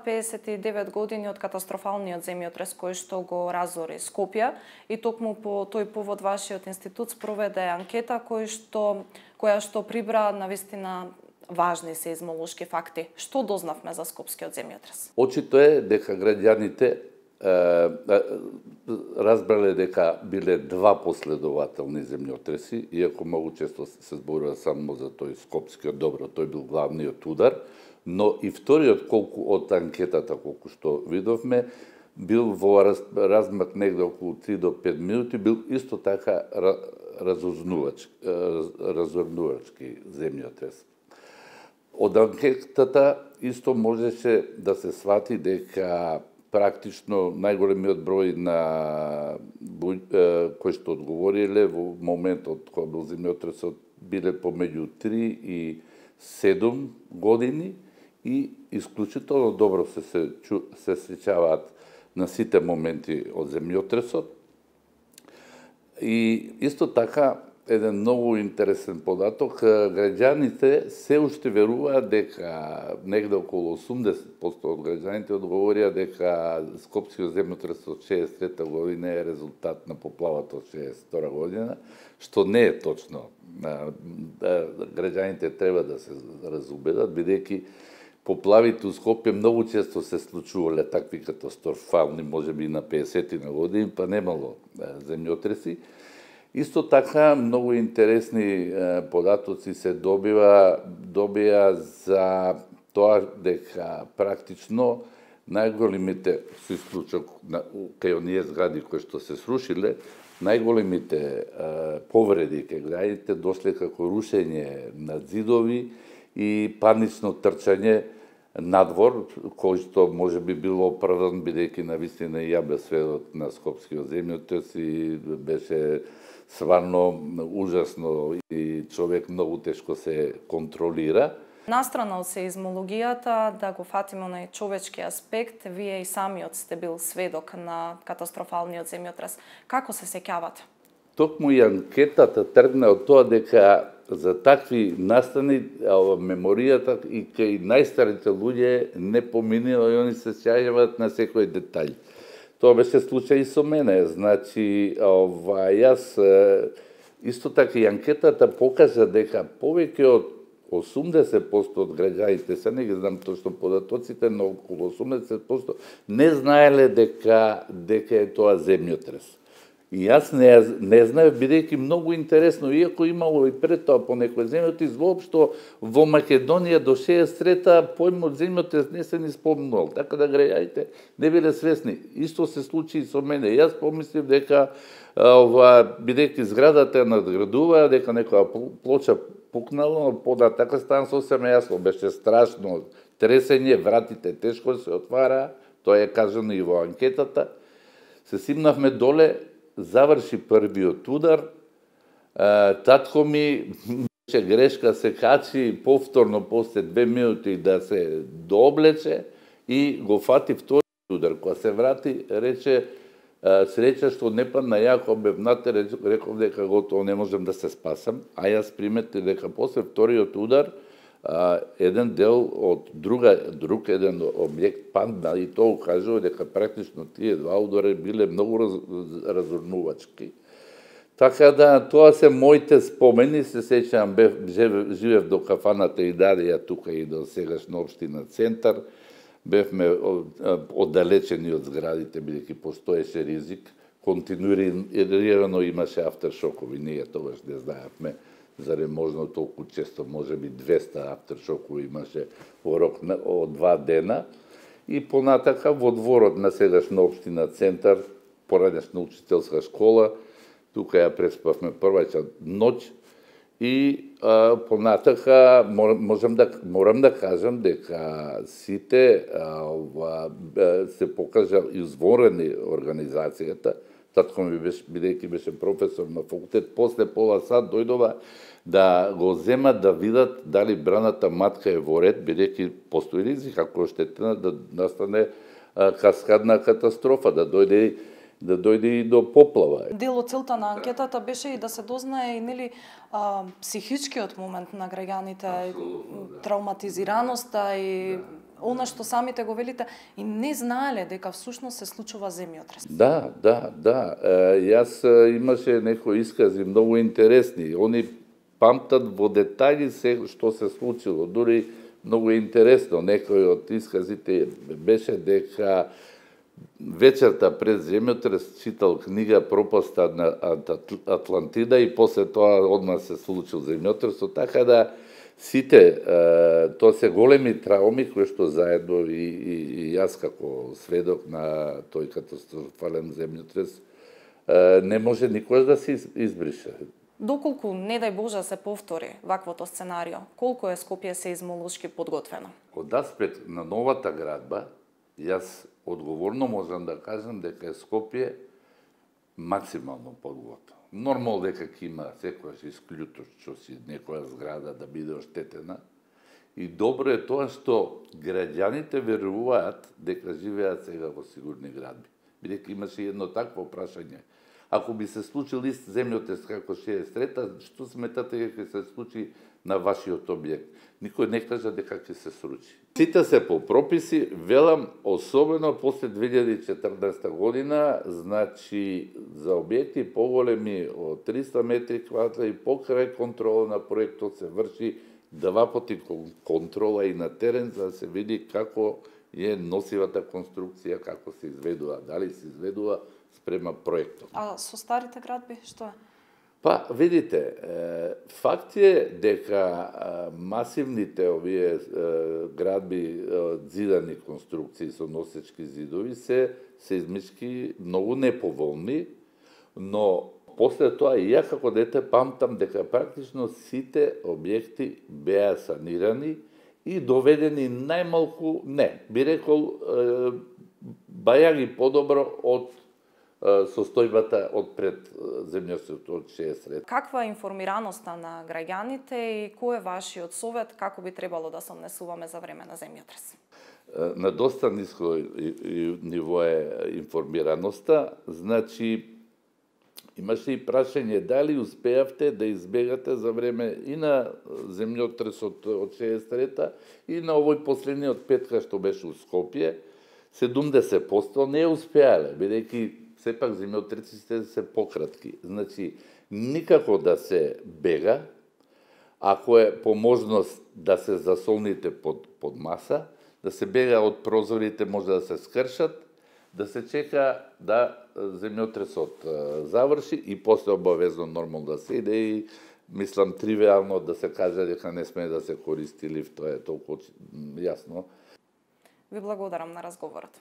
59 години од катастрофалниот земјотрес кој што го разори Скопје и токму по тој повод вашиот институт спроведе анкета која што прибра навистина важни сеизмолошки факти. Што дознавме за скопскиот земјотрес? Очито е дека граѓаните разбрале дека биле два последователни земјотреси, иако многу често се зборува само за тој скопскиот, добро, тој бил главниот удар, но и вториот, колку од анкетата, колку што видовме, бил во размак негде околу 3 до 5 минути, бил исто така разорнувачки земјотрес. Од анкетата исто можеше да се свати дека практично најголемиот број на кои што одговориле во моментот кога бил земјотресот биле помеѓу 3 и 7 години и исклучително добро се сеќаваат на сите моменти од земјотресот. И исто така еден многу интересен податок, граѓаните се уште веруваат дека негде околу 80% од граѓаните одговорија дека скопскиот земјотрес од 63 година е резултат на поплавата од 62 година, што не е точно. Граѓаните треба да се разубедат, бидејќи поплавите у Скопје многу често се случувале такви катастрофални, можеби на 50 на години, па немало земјотреси. Исто така, многу интересни податоци се добија за тоа дека практично најголемите, со исклучок кај оние згради кои што се срушиле, најголемите повреди кај граѓаните дошле како рушење на зидови и панично трчање надвор, кој што може би било оправдан, бидејќи навистина и ја бе сведок на скопскиот земјотрес и беше сварно ужасно и човек многу тешко се контролира. Настрана од сеизмологијата, да го фатиме онај човечки аспект, вие и самиот сте бил сведок на катастрофалниот земјотрес. Како се сеќавате? Токму и анкетата тргна од тоа дека за такви настани меморијата и кај најстарите луѓе не поминува и они се сеќаваат на секој детаљ. Тоа беше случај и со мене. Значи, јас исто така и анкетата покажа дека повеќе од 80% од граѓаните, се не ги знам точно податоците, но околу 80% не знаеле дека е тоа земјотрес. И јас не знаев, бидејќи многу интересно, иако имало и пред тоа по некој земјотрес, воопшто во Македонија до 63-та појмот земјотрес не се ни спомнувал, така да граѓаните не биле свесни. Исто се случи и со мене. Јас помислив дека бидејќи зградата надградува, дека некоја плоча пукнала, но података стана сосема јасно, беше страшно тресење, вратите тешко се отвара, тоа е кажано и во анкетата. Се симнавме доле, заврши првиот удар, татко ми беше грешка, се качи повторно после 2 минути да се дооблече и го фати вториот удар. Кога се врати, рече, среќа што не падна јако бевнате, реков дека готово не можем да се спасам, а јас приметив дека после вториот удар еден дел од друг еден објект падна и тоа укажува дека практично тие два удара биле многу разорнувачки. Така да, тоа се моите спомени, се сеќавам, живеев до кафаната Идарија, тука и до сегашна општина Центар, бевме оддалечени од зградите, бидејќи постоеше ризик, континуирано имаше автершокови, ние тогаш не знаевме, заре можно толку често, може би 200 автершокови имаше во рок од 2 дена, и понатака во дворот на сегашна општина Центар, поранешна учителска школа, тука ја преспавме прваќа ноќ, и понатака морам да кажам дека сите се покажа изворени организацијата. Татко ми беше, бидејќи беше професор на факултет, после пола сат дојдова да го земат да видат дали браната матка е во ред, бидејќи постои ризик ако е оштетена да настане каскадна катастрофа, да дојде и до поплава. Дел од целта на анкетата беше и да се дознае нели психичкиот момент на граѓаните, травматизираноста и она што самите го велите и не знаеле дека всушност се случува земјотрес. Да. Јас имаше некои искази многу интересни. Они памтат во детаљи се што се случило. Дури многу интересно. Некој од исказите беше дека вечерта пред земјотрес читал книга Пропаста на Атлантида и после тоа одма се случил земјотресот, така да сите, тоа се големи трауми кои што заедно и јас како сведок на тој катастрофален земјотрес не може никош да се избрише. Доколку, не дај Боже, се повтори ваквото сценарио, колку е Скопје сеизмолошки подготвено? Од аспект на новата градба, јас одговорно можам да кажам дека е Скопје максимално подготвено. Нормално дека ќе има секојаш исклучок си некоја зграда да биде оштетена. И добро е тоа што граѓаните веруваат дека живеат сега во сигурни градби. Бидејќи имаше едно такво прашање. Ако би се случил ист земјотрес како 63-та, што сметате дека ќе се случи на вашиот објект? Никој не кажа дека ќе се случи. Сите се по прописи, велам, особено после 2014 година, значи за објекти поголеми од 300 метри квадратни и покрај контрола на проектот се врши 2 пати контрола и на терен за да се види како е носивата конструкција, како се изведува, дали се изведува спрема проектот. А со старите градби што е? Па, видите, факт е дека масивните овие градби зидани конструкции со носечки зидови се сеизмички многу неповолни, но после тоа и ја како дете памтам дека практично сите објекти беа санирани и доведени најмалку, не, би рекол, бајаги подобро од состојбата од пред земјотресот од 63. Каква е информираноста на граѓаните и кој е вашиот совет како би требало да се однесуваме за време на земјотрес? На доста ниско ниво е информираноста, значи имаше и прашање дали успеавте да избегате за време и на земјотресот од 63-та и на овој последниот петка што беше у Скопје, 70% не успеале, бидејќи сепак земјотресите се пократки. Значи, никако да се бега, ако е по можност да се засолните под маса, да се бега од прозорите, може да се скршат, да се чека да земјотресот заврши и после обавезно нормално да се иде и мислам тривиално да се каже дека не сме да се користи лифт, тоа е толку јасно. Ви благодарам на разговорот.